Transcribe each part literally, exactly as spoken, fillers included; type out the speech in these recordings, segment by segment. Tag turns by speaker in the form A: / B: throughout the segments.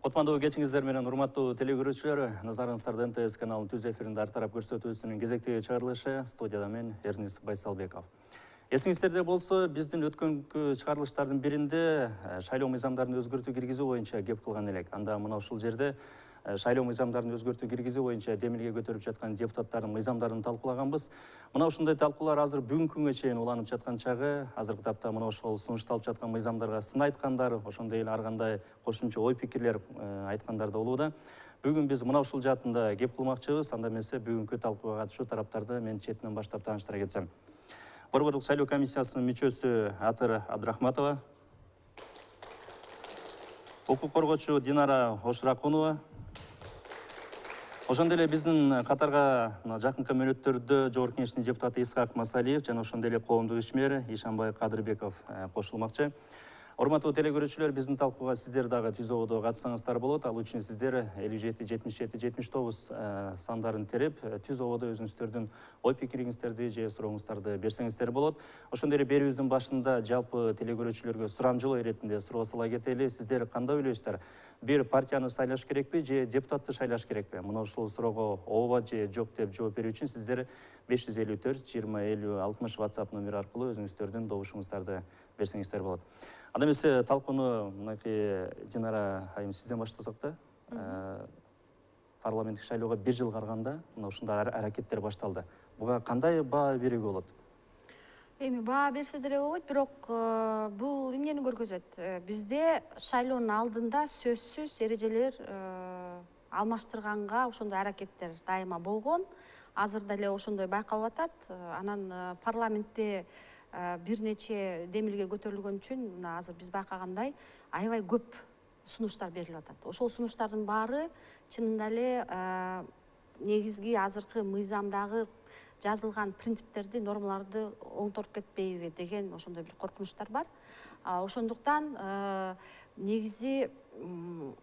A: Кутмандуу кечиңиздер менен урматтуу телекөрүүчүлөр, назарыңыздарды эн тэ эс каналынын түз эфиринде ар тарап көрсөтүүсүнүн кезектеги чыгарылышы, студияда мен Эрнис Байсалбеков. Эсиңиздерде болсо, биздин өткөнкү чыгарылыштардын биринде шайлоо мыйзамдарын өзгөртүү киргизүү боюнча кеп кылган элек. Анда мына ушул жерде шайлоо мыйзамдарын өзгөртүү киргизүү боюнча демилге көтөрүп жаткан депутаттардын мыйзамдарын талкуулаганбыз. Мына ушундай талкуулар азыр бүгүнкү күнгө чейин уланып жаткан чагы, азыркы тапта мына ошол сунушталып жаткан мыйзамдарга сын айткандар, ошондой эле ар кандай кошумча ой пикирлер айткандар да болууда. Бүгүн биз мына ушул жаатында кеп кылмакчыбыз. Анда эмесе бүгүнкү талкууга катышуу тараптарды мен четинен баштап тааныштыра кетсем. Борборлук шайлоо комиссиясынын мүчөсү Атыр Абдрахматова, укук коргоочу Динара Ошуракунова, ошондой эле биздин катарга жакынкы мүнөттөрдө Жогорку Кеңештин депутаты Исхак Масалиев жана ошондой эле коомдук ишмер Ишанбай Кадырбеков кошулмакчы. Урматтуу телекөрүүчүлөр, биздин талкууга сиздер дагы түз ободо катышсаңыздар болот. Ал үчүн сиздер элүү жети жетимиш жети жетимиш тогуз сандарын терип, түз ободо өзүңүздөрдүн ой пикириңиздерди же сурооңуздарды берсеңиздер болот. Ошондой эле берүүбүздүн башында жалпы телекөрүүчүлөргө сурамжылоо иретинде суроо сала кетели. Сиздер кандай ойлойсуздар? Бир партияны шайлаш керекпи же депутатты шайлаш керекпи? Мына ушул суроого ооба же жок деп жооп берүү үчүн сиздер беш жүз элүү төрт жыйырма элүү алтымыш WhatsApp номери аркылуу өзүңүздөрдүн добушуңуздарды берсеңиздер болот. Анда эмесе талкууну мынакей Динара айым сизден баштасак да. Парламенттик шайлоого бир жыл карганда мына ушундай аракеттер башталды. Буга кандай баа берүүгө болот?
B: Эми баа берсе деле болбойт, бирок бул эмнени көргөзөт? Бизде шайлоонун алдында сөзсүз эрежелер алмаштырганга ошондой аракеттер дайыма болгон. Азыр деле ошондой байкалып атат. Анан парламентте бир нече демилге көтөрүлгөн үчүн мына азыр биз байкагандай аябай көп сунуштар берилип атат. Ошол сунуштардын баары чынында эле негизги азыркы мыйзамдагы жазылган принциптерди, нормаларды оңторуп кетпейби деген ошондой бир коркунучтар бар. Ошондуктан негизи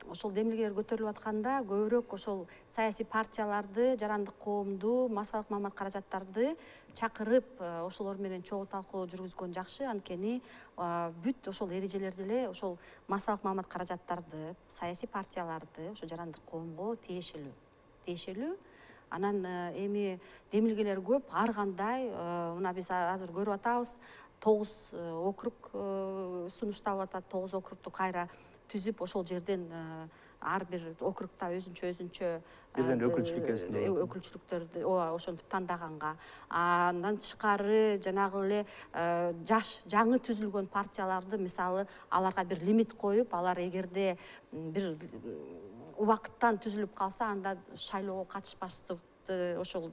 B: ошол демилгелер көтөрүлүп атканда көбүрөөк ошол саясий партияларды, жарандык коомду, массалык маалымат каражаттарды чакырып ошолор менен чогуу талкуу жүргүзгөн жакшы. Анткени бүт ошол эрежелерди эле ошол массалык маалымат каражаттарды, саясий партияларды, ошо жарандык коомго тиешелүү. Тиешелүү. Анан эми демилгелер көп, ар кандай. Мына биз азыр көрүп атабыз, тогуз округ сунушталып атат, тогуз округду кайра түзүп, ошол жерден ар бир округда өзүнчө өзүнчө
A: бирден өкүлчүлүк элесинде
B: өкүлчүлүктөрдү ошентип тандаганга. Андан тышкары жанагы эле жаш жаңы түзүлгөн партияларды, мисалы, аларга бир лимит коюп, алар эгерде бир убакыттан түзүлүп калса, анда шайлоого катышпаштык ошол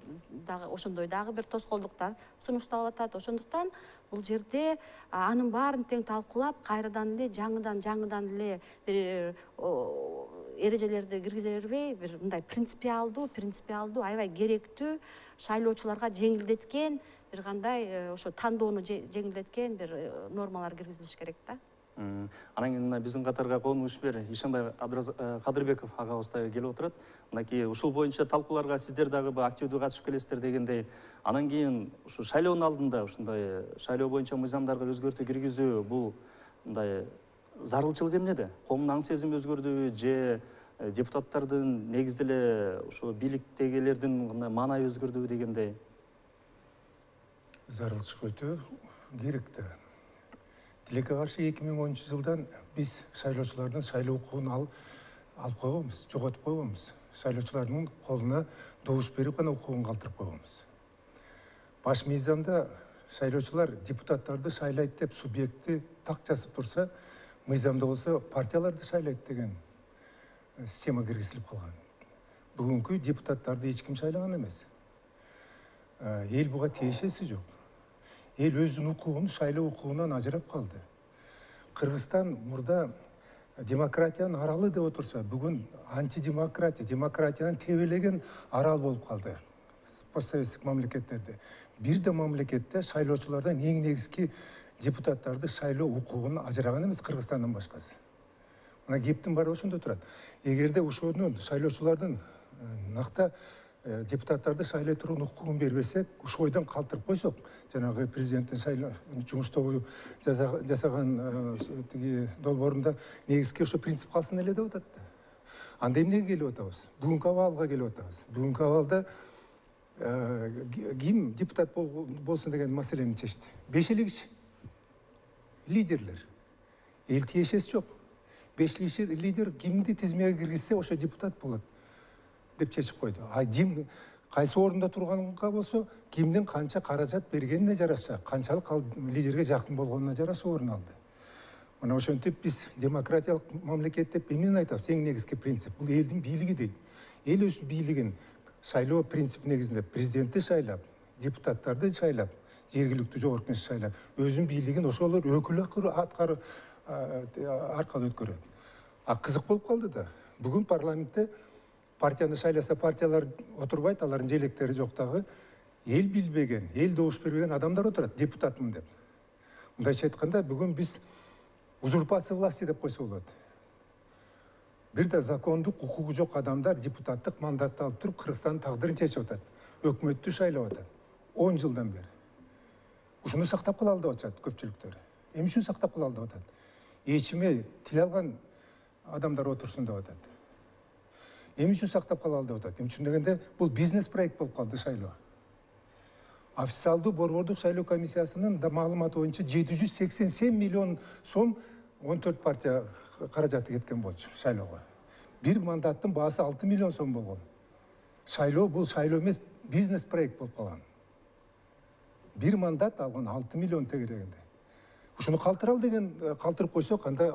B: дагы ошондой дагы бир тоскоолдуктар сунушталып атат. Ошондуктан бул жерде анын баарын тең талкуулап, кайрадан эле жаңыдан жаңыдан эле бир эрежелерди киргизе бербей, бир мындай принципиалдуу, принципиалдуу, аябай керектүү, шайлоочуларга жеңилдеткен, бир кандай ошо тандоону жеңилдеткен бир нормалар киргизилиш керек да.
A: Анан кийин биздин катарга коомдук ишмер Ишанбай Кадырбеков агабыз да келип отурат. Мынакей ушул боюнча талкууларга сиздер дагы активдүү катышып келесиздер дегендей. Анан кийин ушу шайлоонун алдында ушундай шайлоо боюнча мыйзамдарга өзгөртүү киргизүү бул мындай зарылчылык эмнеде? Коомдун аң сезими өзгөрдүбү же депутаттардын негизи эле ушу бийликтегилердин кандай маанайы өзгөрдүбү дегендей?
C: Зарылчылык өтө керек да. Тилекке каршы эки миң онунчу жылдан биз шайлоочулардын шайлоо укугун алып койгонбуз, жоготуп койгонбуз. Шайлоочулардын колуна добуш берип гана укугун калтырып койгонбуз. Баш мыйзамда шайлоочулар депутаттарды шайлайт деп субъектти так жазып турса, мыйзамда болсо партияларды шайлайт деген система киргизилип калган. Бүгүнкү депутаттарды эч ким шайлаган эмес. Эл буга тиешеси жок. Эл өзүнүн укугун шайлоо укугунан ажырап калды. Кыргызстан мурда демократиянын аралы деп отурса, бүгүн антидемократия, демократиянын тебелеген арал болуп калды. Постсоветтик мамлекеттерде. Бир да мамлекетте шайлоочулардан эң негизги депутаттарды шайлоо укугун ажыраган эмес Кыргызстандан башкасы. Мына кептин баары ошондо турат. Эгерде ошонун шайлоочулардын накта депутаттарды шайлай турган укугун бербесек, ушу ойдон калтырып койсок, жанагы президенттин шайлоо жумуштогу жасаган тиги долбоорунда негизги ошо принцип калсын эле деп атат да. Анда эмнеге келип атабыз? Бүгүнкү абалга келип атабыз. Бүгүнкү абалда ким депутат болсун деген маселени чечти? Бешелик лидерлер. Эл тиешеси жок. Беш лидер кимди тизмеге киргизсе ошо депутат болот деп чечип койду. А ким кайсы орунда турганга болсо, кимдин канча каражат бергенине жараша, канчалык ал лидерге жакын болгонуна жараша орун алды. Мына ошентип биз демократиялык мамлекет деп эмнени айтабыз? Эң негизги принцип бул элдин бийлиги дейт. Эл өз бийлигин шайлоо принцип негизинде президентти шайлап, депутаттарды шайлап, жергиликтүү жогорку кеңешти шайлап, өзүнүн бийлигин ошолор өкүл аткаруу аркылуу өткөрөт. А кызык болуп калды да. Бүгүн парламентте партияны шайласа партиялар отурбайт, алардын желектери жок дагы. Эл билбеген, эл добуш бербеген адамдар отурат, депутатмын деп. Мындайча айтканда, бүгүн биз узурпация власти деп койсо болот. Бир да закондук укугу жок адамдар депутаттык мандатты алып туруп Кыргызстандын тагдырын чечип атат. Өкмөттү шайлап атат. он жылдан бери. Ушуну сактап калалы деп атышат көпчүлүктөр. Эмне үчүн сактап калалы деп атат? Эчиме тил алган адамдар отурсун деп атат. Эмне үчүн сактап калалы деп атат? Эмне үчүн дегенде, бул бизнес проект болуп калды шайлоо. Официалдуу борбордук шайлоо комиссиясынын маалыматы боюнча жети жүз сексен сегиз миллион сом он төрт партия каражаты кеткен болчу шайлоого. Бир мандаттын баасы алты миллион сом болгон. Шайлоо бул шайлоо эмес, бизнес проект болуп калган. Бир мандат алган алты миллион тегерегинде. Ушуну калтыралы деген, калтырып койсок, анда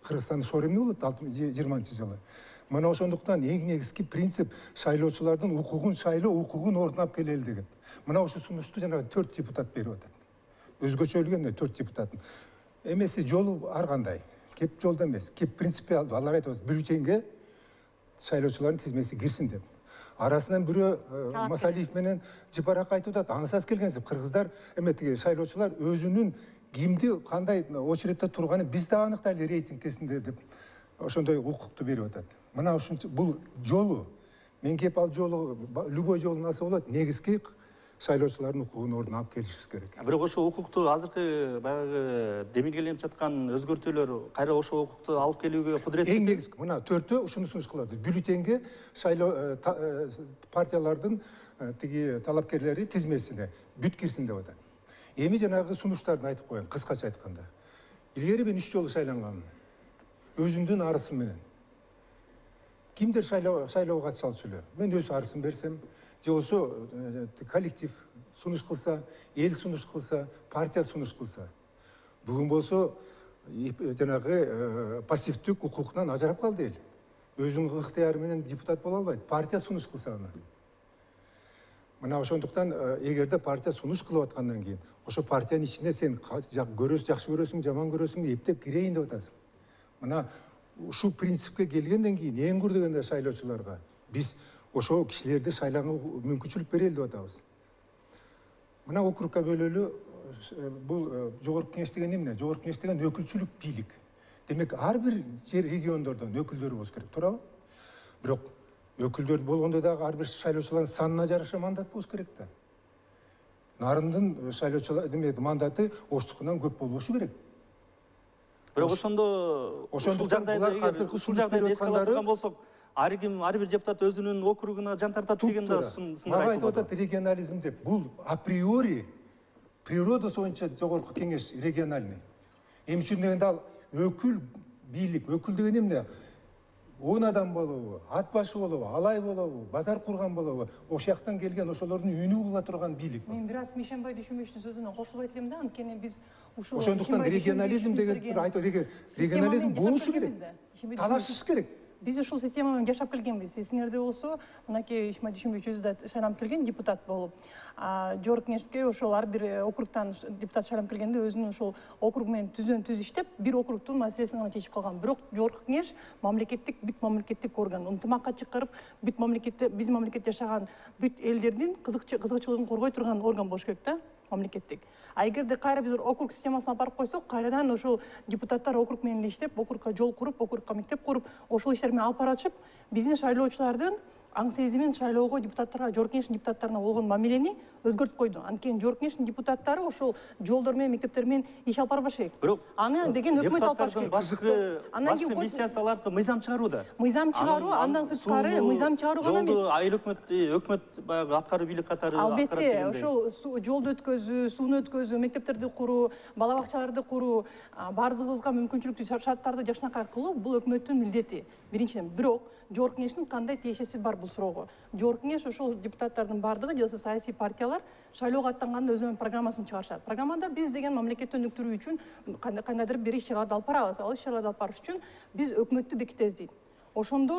C: Кыргызстандын шоор эмне болот жыйырманчы жылы. Мына ошондуктан эң негизги принцип шайлоочулардын укугун, шайлоо укугун орнап келели деген. Мына ошо сунушту жана төрт депутат берип атат. Өзгөчөлүгүндө төрт депутат. Эмеси жолу ар кандай. Кеп жолдо эмес, кеп принципиалдуу. Алар айтып атат, бюллетенге шайлоочулардын тизмеси кирсин деп. Арасынан бирөө Масалиев менен Жипарак айтып атат, ансыз келгенсип, кыргыздар эметиги шайлоочулар өзүнүн кимди кандай очередде турганын биз да аныктайлы рейтинг кезинде деп ошондой укукту берип атат. Мына ушунча бул жолу, мен кеп ал жолу, любой жолун алса болот, негизги шайлоочулардын укугун ордуна алып келишибиз керек.
A: Бирок ошо укукту азыркы баягы демилгеленип жаткан өзгөртүүлөр кайра ошо укукту алып келүүгө кудуреттүү.
C: Эң негизги мына төртөө ушуну сунуш кылат. Бюллетенге шайлоо партиялардын тиги талапкерлери тизмесине бүт кирсин деп атат. Эми жанагы сунуштарды айтып коеюн, кыскача айтканда. Илгери мен үч жолу шайланганмын. Өзүмдүн арысым менен. Кимдер шайлоого катыша алчу эле? Мен өз арысым берсем, же болсо коллектив сунуш кылса, эл сунуш кылса, партия сунуш кылса. Бүгүн болсо жанагы пассивдүү укуктан ажырап калды эл. Өзүнүн ыктыяры менен депутат боло албайт. Партия сунуш кылса аны. Мына ошондуктан эгерде партия сунуш кылып аткандан кийин, ошо партиянын ичине сен көрөсүң, жакшы көрөсүң, жаман көрөсүң, эптеп кирейин деп атасың. Мына ушул принципке келгенден кийин эң кур дегенде шайлоочуларга биз ошол кишилерди шайлоого мүмкүнчүлүк берели деп атабыз. Мына округка бөлөлүү бул жогорку кеңеш деген эмне? Жогорку кеңеш деген өкүлчүлүк бийлик. Демек ар бир жер региондордон өкүлдөр болуш керек, туурабы? Бирок өкүлдөр болгондо дагы ар бир шайлоочулардын санына жараша мандат болуш керек да. Нарындын шайлоочулар демек мандаты оштукунан көп болбошу керек.
A: Бирок ошондо ушул жагдайда ушул жагдайда эске ала турган болсок, ар ким, ар бир депутат өзүнүн округуна жан тартат деген да сындар
C: айтып атат регионализм деп. Бул априори природасы боюнча жогорку кеңеш региональный. Эмне үчүн дегенде ал өкүл бийлик, өкүл деген эмне? он адам болобу, ат башы болобу, алай болобу, базар курган болобу, ошол жактан келген ошолордун үнү кыла турган бийлик.
D: Мен бир аз Мишенбай Дүйшөнбековдун сөзүнө кошулбайт элем да, анткени биз ушул
C: ошондуктан регионализм деген бир айтып регионализм болушу керек. Талашыш керек.
D: Биз ушул система менен жашап келгенбиз. Эсиңерде болсо, мынакей Ишмай Дүйшөнбеков өзү да шайланып келген депутат болуп, жогорку кеңешке ошол ар бир округтан депутат шайланып келгенде өзүнүн ошол округ менен түздөн түз иштеп, бир округтун маселесин гана чечип калган. Бирок жогорку кеңеш мамлекеттик, бүт мамлекеттик орган, ынтымакка чакырып, бүт мамлекетте, биз мамлекетте жашаган бүт элдердин кызыкчылыгын коргой турган орган болуш керек да, мамлекеттик. А эгерде кайра биз округ системасына алып барып койсок, кайрадан ошол депутаттар округ менен иштеп, округка жол куруп, округка мектеп куруп, ошол иштер менен алып баратышып, биздин шайлоочулардын аң сезимин шайлоого депутаттарга, жогорку кеңештин депутаттарына болгон мамилени өзгөртүп койду. Анткени жогорку кеңештин депутаттары ошол жолдор менен, мектептер менен иш алып барбаш керек.
A: Бирок
D: аны деген өкмөт алып барыш керек.
A: Башкы башкы миссиясы аларга мыйзам чыгарууда.
D: Мыйзам чыгаруу, андан сырткары мыйзам чыгаруу гана эмес.
A: Жолду айыл өкмөт, өкмөт баягы аткаруу бийлик катары аткарат
D: дегендей. Албетте, ошол жолду өткөзүү, сууну өткөзүү, мектептерди куруу, бала бакчаларды куруу, бардыгыбызга мүмкүнчүлүктүү шарттарды жакшынакай кылуу бул өкмөттүн милдети. Биринчиден, бирок жогорку кеңештин кандай тиешеси бар бул суроого? Жогорку кеңеш ошол депутаттардын бардыгы же саясий партиялар шайлоого аттанганда өзүнүн программасын чыгарышат. Программада биз деген мамлекетти өнүктүрүү үчүн кандайдыр бир иш-чараларды алып барабыз. Ал иш-чараларды алып барыш үчүн биз өкмөттү бекитебиз дейт. Ошондо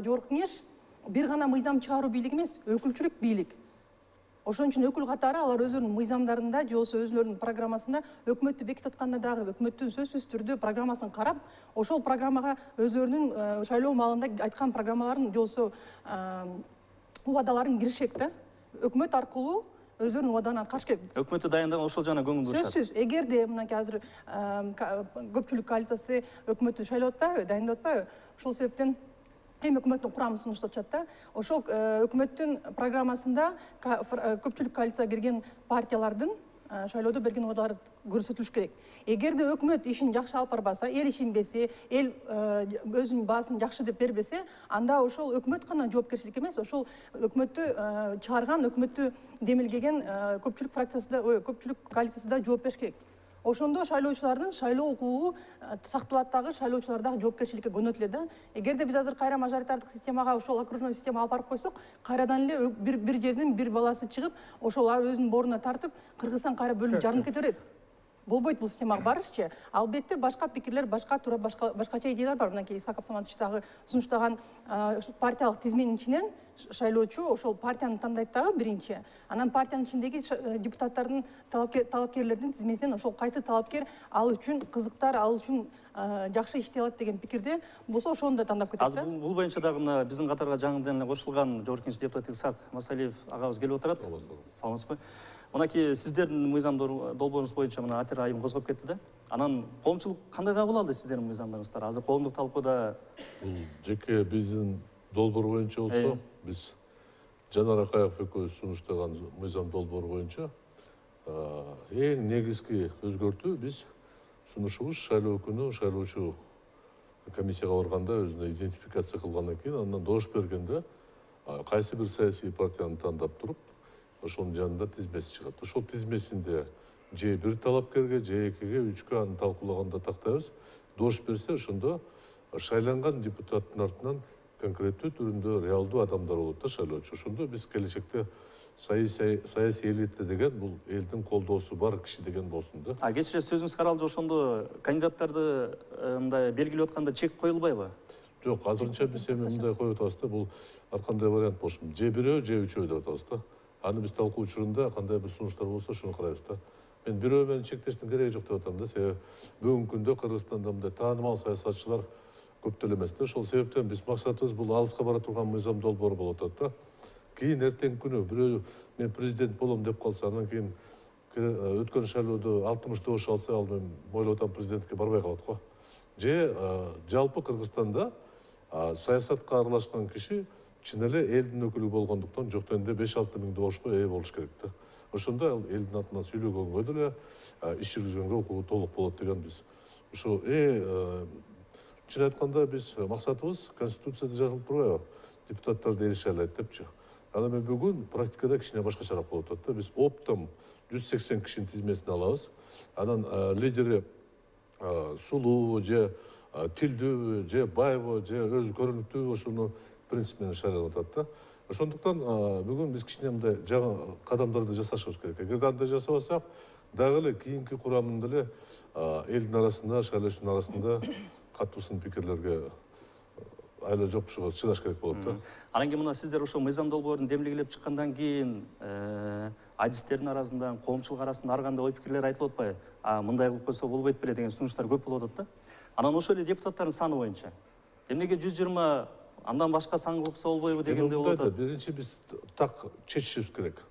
D: жогорку кеңеш бир гана мыйзам чыгаруу бийлиги эмес, өкүлчүлүк бийлик. Ошон үчүн өкүл катары алар өзүнүн мыйзамдарында же болбосо өзүлөрүнүн программасында өкмөттү бекитип атканда дагы өкмөттүн сөзсүз түрдө программасын карап, ошол программага өзүлөрүнүн шайлоо маалында айткан программаларын же болбосо убадаларын киришет да. Өкмөт аркылуу өзүнүн убадаларына каршы керек.
A: Өкмөттү дайындаган ошол жана көңүл бурушат.
D: Сөзсүз, эгерде мынакей азыр көпчүлүк коалициясы өкмөттү шайлап атпайбы, дайындап атпайбы? Ошол себептен эми өкмөттүн курамын сунуштап атышат да. Ошол өкмөттүн программасында көпчүлүк коалицияга кирген партиялардын шайлоодо берген убадалары көрсөтүлүш керек. Эгерде өкмөт ишин жакшы алып барбаса, эл ишенбесе, эл өзүнүн баасын жакшы деп бербесе, анда ошол өкмөт гана жоопкерчилик эмес, ошол өкмөттү чыгарган, өкмөттү демилгеген көпчүлүк фракциясы да, көпчүлүк коалициясы да жооп бериш керек. Ошондо шайлоочулардын шайлоо укугу сакталат дагы, шайлоочулар дагы жоопкерчиликке көнөтүлөт да. Эгерде биз азыр кайра мажоритардык системага, ошол окружной системага алып барып койсок, кайрадан эле бир бир жердин бир баласы чыгып, ошол өзүнүн боруна тартып, Кыргызстан кайра бөлүнүп жарынып кете берет. Болбойт бул системага барышчы. Албетте башка пикирлер, башка туура башкача идеялар бар. Мынакей Исхак Абсаматович дагы сунуштаган партиялык тизменин ичинен шайлоочу ошол партияны тандайт дагы биринчи. Анан партиянын ичиндеги депутаттардын, талапкерлердин тизмесинен ошол кайсы талапкер ал үчүн кызыктар, ал үчүн жакшы иштей алат деген пикирде болсо ошону да тандап кетет.
A: Азыр бул боюнча дагы мына биздин катарга жаңыдан эле кошулган жогорку кеңеш депутаты Исхак Масалиев агабыз келип отурат. Саламатсызбы? Мынакей сиздердин мыйзам долбооруңуз боюнча мына атер айым козгоп кетти да. Анан коомчулук кандай кабыл алды сиздердин мыйзамдарыңызды? Азыр коомдук талкууда
E: бул жеке биздин долбоор боюнча болсо, биз Жанар Акаев экөөбүз сунуштаган мыйзам долбоор боюнча эң негизги өзгөртүү биз сунушубуз шайлоо күнү шайлоочу комиссияга барганда өзүнө идентификация кылгандан кийин андан добуш бергенде кайсы бир саясий партияны тандап туруп ошонун жанында тизмеси чыгат. Ошол тизмесинде же бир талапкерге, же экиге, үчкө аны талкуулаганда тактайбыз. Добуш берсе, ошондо шайланган депутаттын артынан конкреттүү түрүндө реалдуу адамдар болот да шайлоочу. Ошондо биз келечекте саясий элита деген бул элдин колдоосу бар киши деген болсун да.
A: А кечире сөзүңүз каралды, ошондо кандидаттарды мындай белгилеп атканда чек коюлбайбы?
E: Жок, азырынча биз эми мындай коюп атабыз да, бул ар кандай вариант болушу. Же бирөө, же үчөө деп атабыз да. Аны биз талкуу учурунда кандай бир сунуштар болсо ошону карайбыз да. Мен бирөө менен чектештин кереги жок деп атам да. Себеби бүгүнкү күндө Кыргызстанда мындай таанымал саясатчылар көп деле эмес да. Ошол себептен биз максатыбыз бул алыска бара турган мыйзам долбоор болуп атат да. Кийин эртеңки күнү бирөө мен президент болом деп калса, анан кийин өткөн шайлоодо алтымыш добуш алса, ал мен ойлоп атам президентке барбай калат го. Же жалпы Кыргызстанда саясатка аралашкан киши чын эле элдин өкүлү болгондуктан жок дегенде беш алты миң добушка ээ болуш керек да. Ошондо ал элдин атынан сүйлөгөнгө деле иш жүргүзгөнгө укугу толук болот деген биз. Ошо э чын айтканда биз максатыбыз конституцияда жазылып турбайбы? Депутаттарды эрише алат депчи. Аны мен бүгүн практикада кичине башкачараак болуп атат да. Биз оптом жүз сексен кишинин тизмесин алабыз. Анан лидери сулуу же тилдүү же байбы же өзү көрүнүктүү ошону принцип менен шайланып атат да. Ошондуктан бүгүн биз кичине мындай жаңы кадамдарды жасашыбыз керек. Эгер андай жасабасак, дагы эле кийинки курамында эле элдин арасында, шайлоочунун арасында катуу сын пикирлерге айла жокушуга чыдаш керек болот да.
A: Анан кийин мына сиздер ошол мыйзам долбоорун демилгелеп чыккандан кийин адистердин арасында, коомчулук арасында ар кандай ой пикирлер айтылып атпайбы? А мындай кылып койсо болбойт беле деген сунуштар көп болуп атат да. Анан ошол эле депутаттардын саны боюнча эмнеге жүз жыйырма андан башка сан кылса болбойбу дегенде болуп атат.
E: Биринчи биз так чечишибиз керек.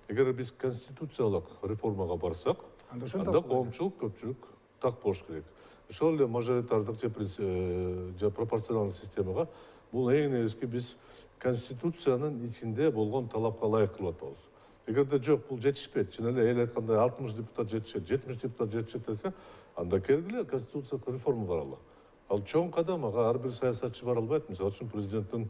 E: Эгер биз конституциялык реформага барсак, анда коомчулук, көпчүлүк так болуш керек. Ошол эле мажоритардык же пропорционалдык системага бул эң негизги биз конституциянын ичинде болгон талапка ылайык кылып атабыз. Эгерде жок, бул жетишпейт, чын эле эл айткандай алтымыш депутат жетишет, жетимиш депутат жетишет десе, анда келгиле конституциялык реформа баралы. Ал чоң кадам, ага ар бир саясатчы бара албайт. Мисалы үчүн президенттин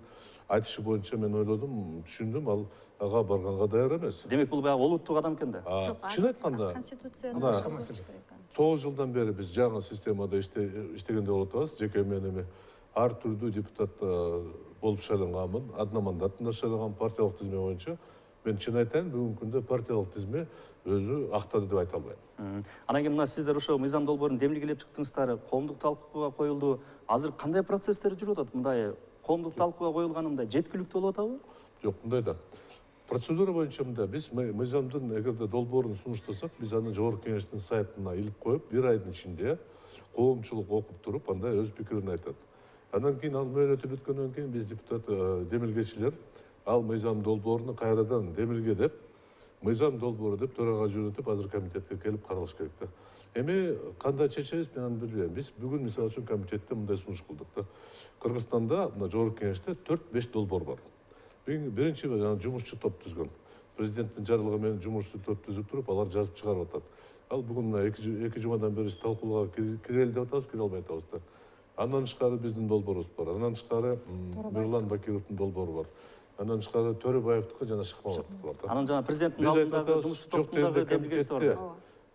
E: айтышы боюнча мен ойлодум, түшүндүм, ал ага барганга даяр эмес.
A: Демек бул баягы олуттуу кадам экен да.
E: Чын айтканда, тогуз жылдан бери биз жаңы системада иштегенде болуп атабыз. Жеке мен эми ар түрдүү депутат болуп шайланганмын, одномандатында шайланган партиялык тизме боюнча. Мен чын айтайын, бүгүнкү күндө партиялык тизме өзү актады деп айта албайм.
A: Анан кийин мына сиздер ошо мыйзам долбоорун демилгелеп чыктыңыздар, коомдук талкууга коюлду. Азыр кандай процесстер жүрүп атат? Мындай коомдук талкууга коюлганы мындай жеткиликтүү болуп атабы?
E: Жок, мындай да. Процедура боюнча мындай, биз мыйзамдын эгерде долбоорун сунуштасак, биз аны жогорку кеңештин сайтына илип коюп, бир айдын ичинде коомчулук окуп туруп, андай өз пикирин айтат. Андан кийин ал мөөнөтү бүткөндөн кийин биз депутат демилгечилер ал мыйзам долбооруну кайрадан демилгедеп, мыйзам долбоору деп төрага жөнөтүп, азыр комитетке келип каралыш керек да. Эми кандай чечебиз, мен аны билбейм. Биз бүгүн мисалы үчүн комитетте мындай сунуш кылдык да. Кыргызстанда мына жогорку кеңеште төрт беш долбоор бар. Биринчи жумушчу топ түзгөн. Президенттин жарлыгы менен жумушчу топ түзүп туруп, алар жазып чыгарып атат. Ал бүгүн мына эки жумадан бери талкууга кирели деп атабыз, кире албай атабыз да. Андан тышкары биздин долбоорубуз бар. Андан тышкары Мирлан Бакировдун долбоору бар. Андан тышкары Төрөбаевдики жана Шыкмаматовдуку бар да.
A: Анан жана президенттин алдындагы жумушчу топтундагы демилгеси бар.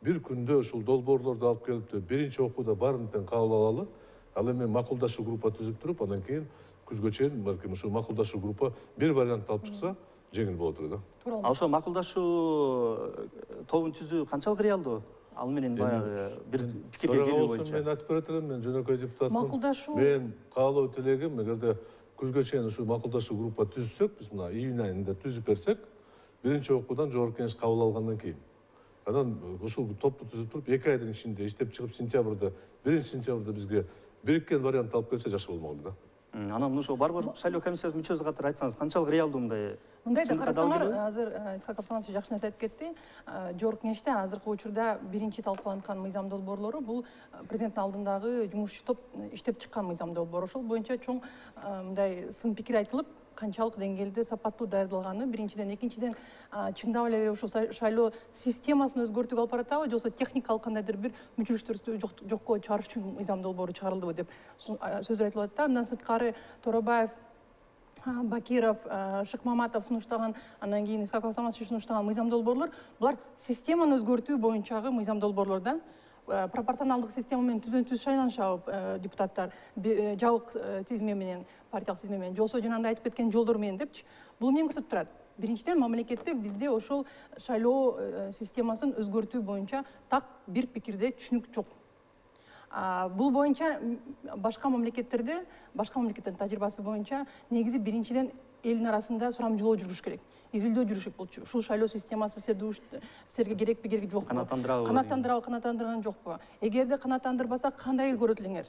E: Бир күндө ушул долбоорлорду алып келип, биринчи окууда баарын тең кабыл алалы. Ал эми макулдашуу группа түзүп туруп, андан кийин күзгө чейин балким ушул макулдашуу группа бир вариант алып чыкса, жеңил болот эле да.
A: А ошо макулдашуу тобун түзүү канчалык реалдуу? Ал менен баягы бир пикирге келүү боюнча.
E: Мен айтып берет элем, мен жөнөкөй депутатмын.
D: Макулдашуу.
E: Мен каалоо тилегим, эгерде күзгө чейин ушул макулдашуу группа түзсөк, биз мына июнь айында түзүп берсек, биринчи окуудан жогорку кеңеш кабыл алгандан кийин. Анан ушул топту түзүп туруп, эки айдын ичинде иштеп чыгып, сентябрда, биринчи сентябрда бизге бириккен вариант алып келсе жакшы болмок эле да.
A: Анан ошо Борбор шайлоо комиссиясынын мүчөсү катары айтсаңыз, канчалык реалдуу мындай?
D: Мындай да карасаңар, азыр Исхак Абсанович жакшы нерсе айтып кетти. Жогорку кеңеште азыркы учурда биринчи талкууланткан мыйзам долбоорлору бул президенттин алдындагы жумушчу топ иштеп чыккан мыйзам долбоор. Ошол боюнча чоң мындай сын пикир айтылып, канчалык деңгээлде сапаттуу даярдалганы, биринчиден, экинчиден чындап эле ушул шайлоо системасын өзгөртүүгө алып баратабы, же болбосо техникалык кандайдыр бир мүчөлүктөрдү жокко чыгарыш үчүн мыйзам долбоору чыгарылдыбы деп сөздөр айтылып атат да. Андан сырткары Торобаев, Бакиров, Шыкмаматов сунуштаган, андан кийин Исхак Абсанович сунуштаган мыйзам долбоорлор, булар системаны өзгөртүү боюнчагы мыйзам долбоорлор да. Пропорционалдык система менен түздөн-түз шайланышабы депутаттар, жабык тизме менен, партиялык тизме менен, же болбосо жанагындай айтып кеткен жолдор менен депчи. Бул эмнени көрсөтүп турат? Биринчиден, мамлекетте бизде ошол шайлоо системасын өзгөртүү боюнча так бир пикирде түшүнүк жок. Бул боюнча башка мамлекеттерде, башка мамлекеттердин тажрыйбасы боюнча негизи биринчиден элдин арасында сурамжылоо жүргүш керек. Изилдөө жүрүш керек болчу. Ушул шайлоо системасы силерге керекпи, кереги жокпу?
A: Канааттандырабы?
D: Канааттандырабы, канааттандырган жокпу? Эгерде канааттандырбаса, кандай көрөт элеңер?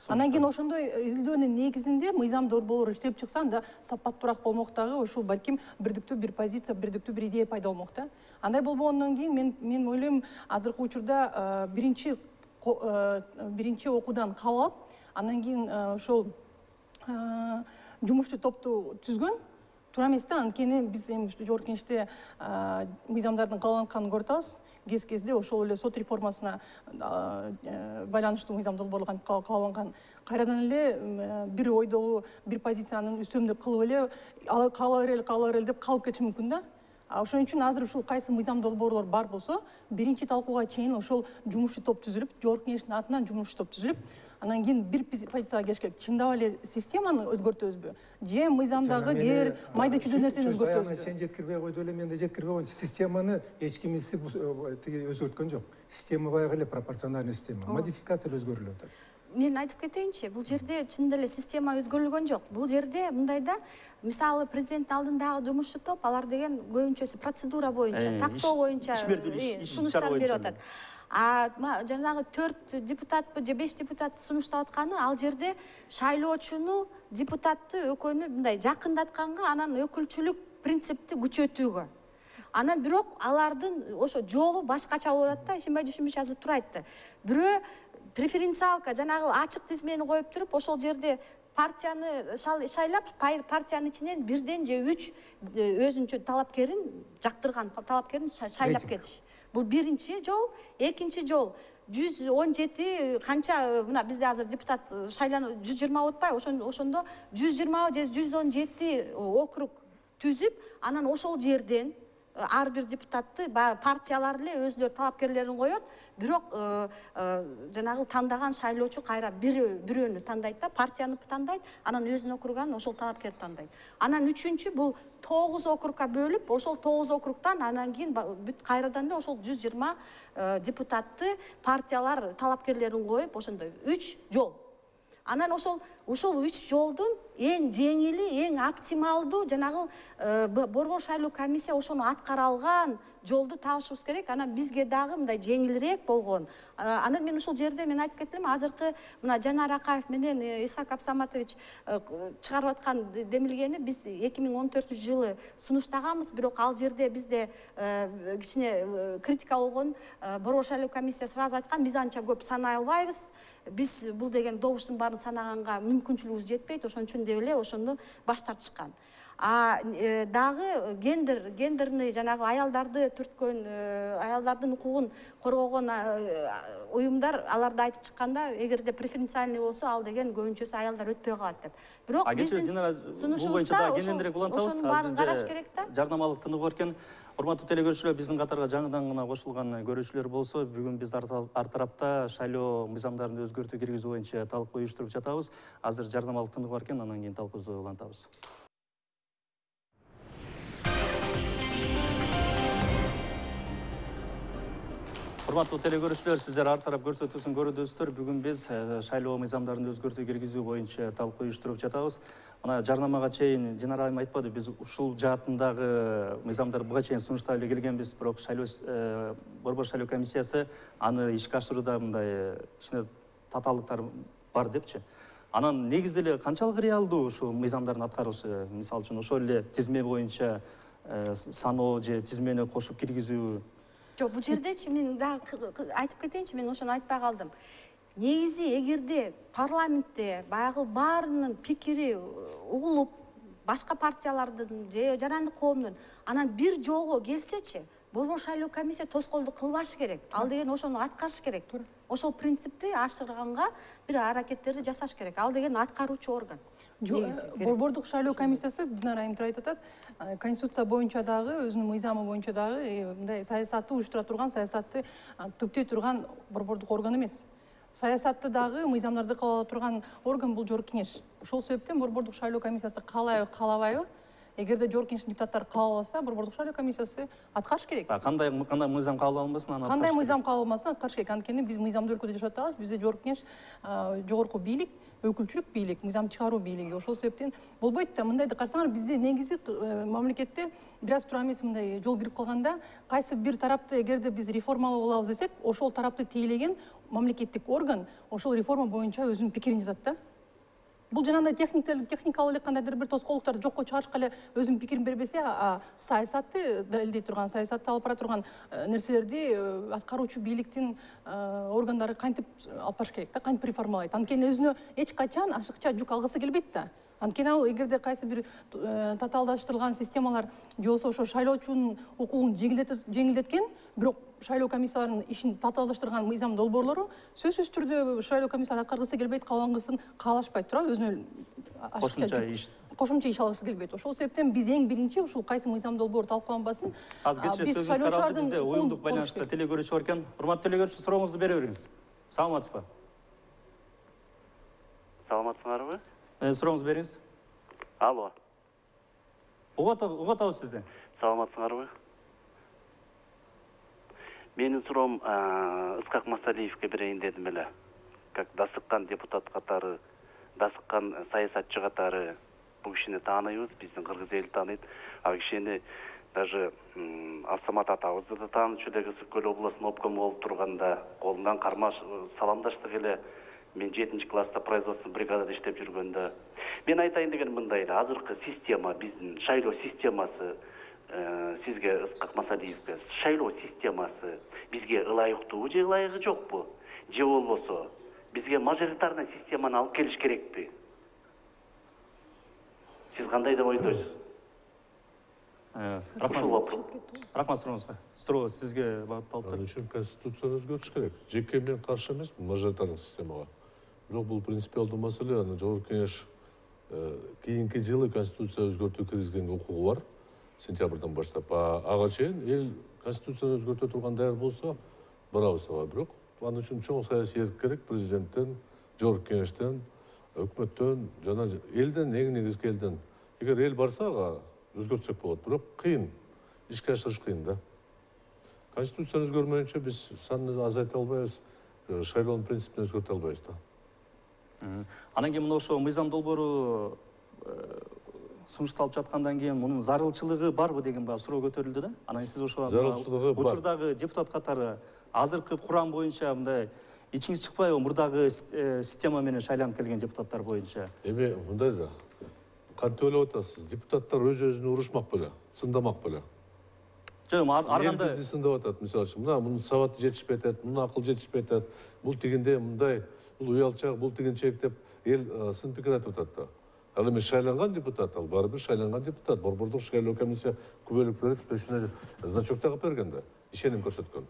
D: Анан кийин ошондой изилдөөнүн негизинде мыйзам долбоору иштеп чыкса, анда сапаттуураак болмок дагы, ушул балким бирдиктүү бир позиция, бирдиктүү бир идея пайда болмок да. Андай болбогондон кийин мен мен ойлойм, азыркы учурда биринчи биринчи окуудан кабыл алып, андан кийин ошол жумушчу топту түзгөн туура эмес да. Анткени биз эми жогорку кеңеште мыйзамдардын кабылданганын көрүп атабыз. Кез-кезде ошол эле сот реформасына байланыштуу мыйзам долбоорлор кабылданган. Кайрадан эле бир ойдогу бир позицияны үстөмдүк кылып эле кабыла берели, кабыла берели деп калып кетиши мүмкүн да. Ошон үчүн азыр ушул кайсы мыйзам долбоорлор бар болсо, биринчи талкууга чейин ошол жумушчу топ түзүлүп, жогорку кеңештин атынан жумушчу топ түзүлүп, анан кийин бир позицияга келиш керек. Чындап эле системаны өзгөртөбүзбү? Же мыйзамдагы кээ бир майда чүйдө нерсени өзгөртөбүзбү?
C: Сен жеткирбей койду эле, мен да жеткирбей койчу. Системаны эч кимиси өзгөрткөн жок. Система баягы эле пропорциональный система. Модификация өзгөрүлүп атат.
B: Мен айтып кетейинчи, бул жерде чындап эле система өзгөрүлгөн жок. Бул жерде мындай да, мисалы президенттин алдындагы жумушчу топ, алар деген көбүнчөсү процедура боюнча, тактоо боюнча сунуштар берип атат. А жанагы төрт депутатпы же беш депутат сунуштап атканы, ал жерде шайлоочуну, депутатты экөөнү мындай жакындатканга, анан өкүлчүлүк принципти күчөтүүгө. Анан бирок алардын ошо жолу башкача болуп атат да. Ишенбай Жушунбек азыр туура айтты. Бирөө преференциалка жанагы ачык тизмени коюп туруп, ошол жерде партияны шайлап, партиянын ичинен бирден же үч өзүнчө талапкерин жактырган талапкерин шайлап кетиш. Бул биринчи жол. Экинчи жол жүз он жети канча мына бизде азыр депутат шайланып жүз жыйырма отпайбы, ошондо жүз жыйырма же жүз он жети округ түзүп, анан ошол жерден ар бир депутатты партиялар эле өзүлөр талапкерлерин коет, бирок жанагы тандаган шайлоочу кайра бирөөнү тандайт да, партияны тандайт, анан өзүнүн округан ошол талапкерди тандайт. Анан үчүнчү бул тогуз округка бөлүп, ошол тогуз округтан анан кийин бүт кайрадан эле ошол жүз жыйырма депутатты партиялар талапкерлерин коюп, ошондой үч жол. Анан ошол ошол үч жолдун эң жеңили, эң оптималдуу жанагы борбор шайлоо комиссия ошону аткара алган жолду табышыбыз керек. Анан бизге дагы мындай жеңилирээк болгон. Анан мен ушул жерде мен айтып кеттим, азыркы мына Жанар Акаев менен Исхак Абсаматович чыгарып аткан демилгени биз эки миң он төртүнчү жылы сунуштаганбыз, бирок ал жерде бизде кичине критика болгон. Борбор шайлоо комиссия сразу айткан, биз анча көп санай албайбыз. Биз бул деген добуштун баарын санаганга мүмкүнчүлүгүбүз жетпейт, ошон үчүн деп эле ошону баш тартышкан. А дагы гендер гендерный жанагы аялдарды түрткөн, аялдардын укугун коргогон уюмдар аларды айтып чыкканда, эгерде преференциальный болсо, ал деген көбүнчөсү аялдар өтпөй калат деп. Бирок биздин сунушубузда ошонун баарын караш керек да.
A: Жарнамалык тыныгуу эркен. Урматтуу телекөрүүчүлөр, биздин катарга жаңыдан гана кошулган көрүүчүлөр болсо, бүгүн биз ар тарапта шайлоо мыйзамдарын өзгөртүү киргизүү боюнча талкуу уюштуруп жатабыз. Азыр жарнамалык тыныгуу эркен, андан кийин талкуубузду улантабыз. Урматтуу телекөрүүчүлөр, сиздер ар тарап көрсөтүүсүн көрүдүсүздөр. Бүгүн биз шайлоо мыйзамдарын өзгөртүү киргизүү боюнча талкуу уюштуруп жатабыз. Мына жарнамага чейин Динара айым айтпады, биз ушул жаатындагы мыйзамдар буга чейин сунуштап эле келгенбиз, бирок шайлоо борбор шайлоо комиссиясы аны ишке ашырууда мындай кичине татаалдыктар бар депчи. Анан негизде эле канчалык реалдуу ушул мыйзамдардын аткарылышы, мисалы үчүн ошол эле тизме боюнча саноо же тизмени кошуп киргизүү?
B: Жок, бул жердечи мен дагы айтып кетейинчи, мен ошону айтпай калдым. Негизи эгерде парламентте баягы баарынын пикири угулуп, башка партиялардын же жарандык коомдун анан бир жолго келсечи, борбор шайлоо комиссия тоскоолдук кылбашы керек. Ал деген ошону аткарыш керек. Ошол принципти ашырганга бир аракеттерди жасаш керек. Ал деген аткаруучу орган.
D: Борбордук шайлоо комиссиясы, Динара айым айтып атат, конституция боюнча дагы, өзүнүн мыйзамы боюнча дагы мындай саясатты уюштура турган, саясатты түптөй турган борбордук орган эмес. Саясатты дагы, мыйзамдарды кабыл ала турган орган бул жогорку кеңеш. Ошол себептен борбордук шайлоо комиссиясы каалайбы, каалабайбы, эгерде жогорку кеңештин депутаттары кабыл алса, борбордук шайлоо комиссиясы аткарыш керек.
A: Кандай кандай мыйзам кабыл алынбасын, аны
D: кандай мыйзам кабыл алынбасын, аткарыш керек. Анткени биз мыйзамдуу өлкөдө жашап атабыз. Бизде жогорку кеңеш жогорку бийлик, өкүлчүлүк бийлик, мыйзам чыгаруу бийлиги. Ошол себептен болбойт да. Мындайды карасаңар, бизде негизи мамлекетте бир аз тура эмес мындай жол кирип калганда, кайсы бир тарапты эгерде биз реформалуу болобуз десек, ошол тарапты тейлеген мамлекеттик орган ошол реформа боюнча өзүнүн пикирин жазат да. Бул жанагындай техникалык эле кандайдыр бир тоскоолдуктарды жокко чыгарышка эле өзүнүн пикирин бербесе, саясатты далилдей турган, саясатты алып бара турган нерселерди аткаруучу бийликтин органдары кантип алып барыш керек да, кантип реформалайт. Анткени өзүнө эч качан ашыкча жүк алгысы келбейт да. Анткени ал эгерде кайсы бир татаалдаштырылган системалар же болбосо ошо шайлоочунун укугун жеңилдеткен, бирок шайлоо комиссияларынын ишин татаалдаштырган мыйзам долбоорлору сөзсүз түрдө шайлоо комиссиялары аткаргысы келбейт, каалангысын каалашпай тура өзүнө
A: кошумча иш
D: кошумча иш алгысы келбейт. Ошол себептен биз эң биринчи ушул кайсы мыйзам долбоор талкууланбасын,
A: биз шайлоочулардын уюмдук байланышта телекөрүүчү экен. Урматтуу телекөрүүчү, сурооңузду бере бериңиз. Саламатсызбы?
F: Саламатсыңарбы?
A: Сурооңузду бериңиз.
F: Алло.
A: Угат атабыз сизди.
F: Саламатсыңарбы? Менин суроом Исхак Масалиевке берейин дедим эле. Как дасыккан депутат катары, дасыккан саясатчы катары бул кишини тааныйбыз, биздин кыргыз эли тааныйт. Ал кишини даже Абсамат атабызды да таанычу эле, Ысык Көл областынын обкому болуп турганда колунан кармаш саламдаштык эле. Мен жетинчи класста производство бригадада иштеп жүргөндө. Мен айтайын деген мындай эле, азыркы система, биздин шайлоо системасы, сизге Ысқақ Масалиевке, шайлоо системасы бизге ылайыктуу же ылайыгы жокпу? Же болбосо бизге мажоритарный системаны алып келиш керекпи? Сиз кандай деп ойлойсуз?
A: Рахмат. Рахмат сурооңузга. Суроо сизге багытталып
E: Ал үчүн конституцияны өзгөртүш керек. Жеке мен каршы эмесмин мажоритардык системага. Бирок бул принципиалдуу маселе. Аны Жогорку Кеңеш кийинки жылы конституция өзгөртүү киргизгенге укугу бар. Сентябрдан баштап. Ага чейин эл конституцияны өзгөртө турган даяр болсо барабыз ага. Бирок ал үчүн чоң саясий эрк керек. Президенттен, Жогорку Кеңештен, өкмөттөн жана элден, эң негизги элден. Эгер эл барса ага өзгөртсөк болот. Бирок кыйын. Ишке ашырыш кыйын да. Конституцияны өзгөрмөйүнчө биз санды азайта албайбыз, шайлоонун принципин өзгөртө албайбыз да.
A: Анан кийин мына ошо мыйзам долбоору сунушталып жаткандан кийин мунун зарылчылыгы барбы деген баягы суроо көтөрүлдү да. Анан сиз ошо учурдагы депутат катары азыркы курам боюнча мындай ичиңиз чыкпайбы мурдагы система менен шайланып келген депутаттар боюнча?
E: Эми мындай да. Кантип ойлоп атасыз? Депутаттар өз-өзүнө урушмак беле, сындамак беле?
A: Жок, ар
E: эл
A: кандай
E: бизди сындап атат, мисалы үчүн. Мына мунун сабаты жетишпей атат, мунун акыл жетишпей атат. Бул тигинде мындай, бул уялчак, бул тигинчек деп эл сын пикир айтып атат да. Ал эми шайланган депутат, ал баары бир шайланган депутат. Борбордук шайлоо комиссия күбөлүк түзүшүнө значок тагып берген да, ишеним көрсөткөн.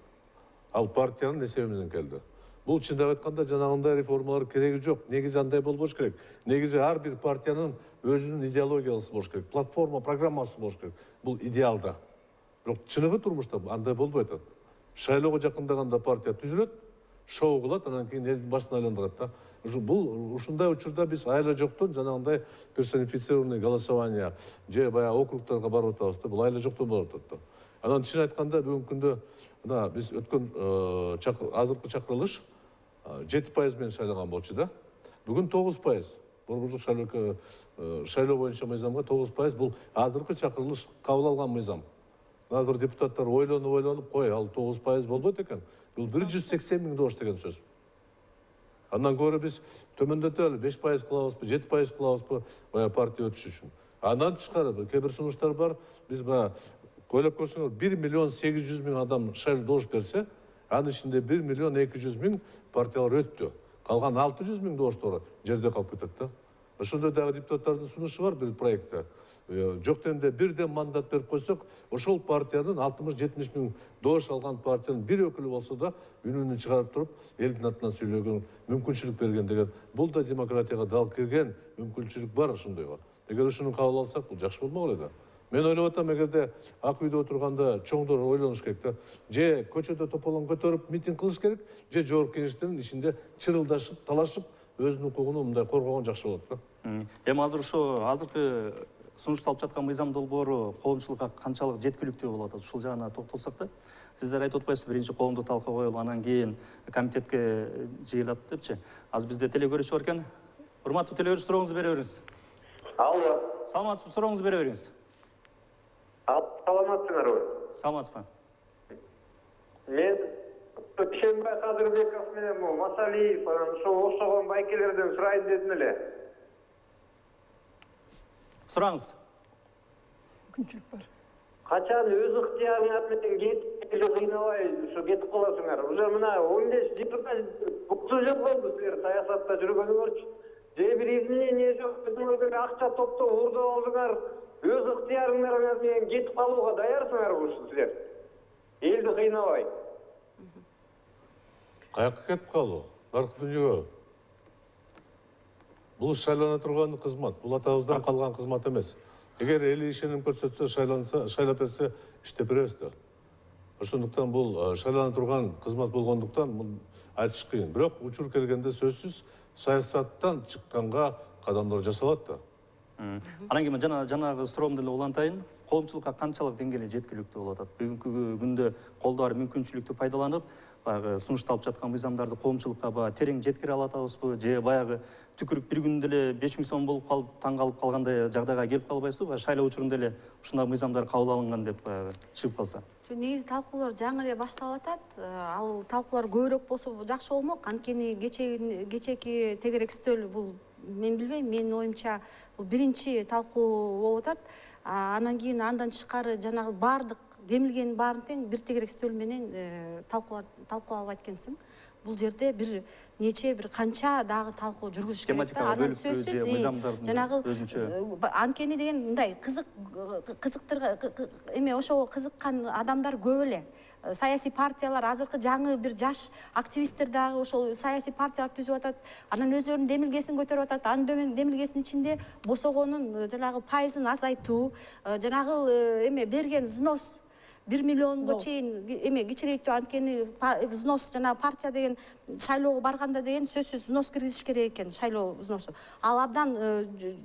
E: Ал партиянын эсеби менен келди. Бул чындап айтканда жанагындай реформалар кереги жок. Негизи андай болбош керек. Негизи ар бир партиянын өзүнүн идеологиясы болуш керек. Платформа, программасы болуш керек. Бул идеалда. Бирок чыныгы турмушта андай болбой атат. Шайлоого жакындаганда партия түзүлөт, шоу кылат, анан кийин элдин башын айландырат да. Бул ушундай учурда биз айла жоктон жанагындай персонифицированный голосование же баягы округдарга барып атабыз да. Бул айла жоктон болуп атат да. Анан чын айтканда бүгүнкү күндө мына биз өткөн азыркы чакырылыш жети пайыз менен шайланган болчу да. Бүгүн тогуз пайыз. Борбордук шайлоо шайлоо боюнча мыйзамга тогуз пайыз бул азыркы чакырылыш кабыл алган мыйзам. Азыр депутаттар ойлонуп ойлонуп кой, ал тогуз пайыз болбойт экен. Бул бир жүз сексен миң добуш деген сөз. Андан көрө биз төмөндөтөлү беш пайыз кылабызбы, жети пайыз кылабызбы баягы партия өтүш үчүн. Андан тышкары кээ бир сунуштар бар. Биз баягы ойлоп көрсөңөр бир миллион сегиз жүз миң адам шайлоо добуш берсе, анын ичинде бир миллион эки жүз миң партиялар өттү. Калган алты жүз миң добуштор жерде калып кетет да. Ошондой дагы депутаттардын сунушу бар бир проектте. Жок дегенде бирден мандат берип койсок, ошол партиянын алтымыш жетимиш миң добуш алган партиянын бир өкүлү болсо да үнүн чыгарып туруп, элдин атынан сүйлөгөн мүмкүнчүлүк берген деген. Бул да демократияга дал кирген мүмкүнчүлүк бар ошондойго. Эгер ушуну кабыл алсак, бул жакшы болмок эле да. Мен ойлоп атам, эгерде ак үйдө отурганда чоңдор ойлонуш керек да. Же көчөдө тополоң көтөрүп митинг кылыш керек, же Жогорку Кеңештин ичинде чырылдашып, талашып, өзүнүн укугун мындай коргогон жакшы болот да.
A: Эми азыр ошо азыркы сунушталып жаткан мыйзам долбоору коомчулукка канчалык жеткиликтүү болуп атат? Ушул жагына токтолсок да. Сиздер айтып атпайсызбы, биринчи коомдук талкуу коюлуп, анан кийин комитетке жыйылат депчи. Азыр бизде телекөрүүчү бар экен. Урматтуу телекөрүүчү, сурооңузду бере бериңиз.
G: Алло.
A: Саламатсызбы, сурооңузду бере бериңиз.
G: Саламатсыңарбы?
A: Саламатсызбы.
G: Мен Ишенбай Кадырбеков менен Масалиев ошо окшогон байкелерден сурайын дедим эле.
A: Сураңыз.
D: Мүмкүнчүлүк бар.
G: Качан өз ыктыярыңар менен кетип кыйнабай ушу кетип каласыңар. Уже мына он беш депутат отуз жыл болду силер саясатта жүргөнүңөрчү. Же бир изменение жок, өзүңөргө акча топтоп урдуп алдыңар. Өз ыктыярыңар менен кетип калууга даярсыңарбы ушу силер? Элди кыйнабай.
E: Каяка кетип калуу? Даркы дүйнөгө. Бул шайлана турган кызмат, бул атабыздан калган кызмат эмес. Эгер эл ишеним көрсөтсө, шайланса, шайлап берсе, иштеп беребиз да. Ошондуктан бул шайлана турган кызмат болгондуктан бул айтыш кыйын. Бирок учур келгенде сөзсүз саясаттан чыкканга кадамдар жасалат да.
A: Анан кийин жана жанагы суроомду эле улантайын. Коомчулукка канчалык деңгээлде жеткиликтүү болуп атат? Бүгүнкү күндө колдо бар мүмкүнчүлүктү пайдаланып, баягы сунушталып жаткан мыйзамдарды коомчулукка баягы терең жеткире алатабызбы? Же баягы түкүрүк бир күндө эле беш миң сом болуп калып, таң калып калгандай жагдайга келип калбайсызбы? Шайлоо учурунда эле ушундай мыйзамдар кабыл алынган деп чыгып калса.
B: Негизи талкуулар жаңы эле башталып атат. Ал талкуулар көбүрөөк болсо жакшы болмок. Анткени кечеки тегерек стөл бул мен билбейм, менин оюмча бул биринчи талкуу болуп атат. Анан кийин андан тышкары жанагы баардык демилгенин баарын тең бир тегерек стөл менен талкуулап айткансың. бул жерде бир нече бир канча дагы талкуу жүргүзүш керек да.
A: Тематикага бөлүп же мыйзамдардын
B: жанагы
A: өзүнчө
B: анткени деген мындай кызык кызыктыр эме ошого кызыккан адамдар көп эле. Саясий партиялар азыркы жаңы бир жаш активисттер дагы ошол саясий партиялар түзүп атат. Анан өздөрүнүн демилгесин көтөрүп атат. Анын демилгесинин ичинде босогонун жанагы пайызын азайтуу, жанагы эме берген взнос бир миллионго чейин эме кичирейтүү, анткени взнос жана партия деген шайлоого барганда деген сөзсүз взнос киргизиш керек экен, шайлоо взносу. Ал абдан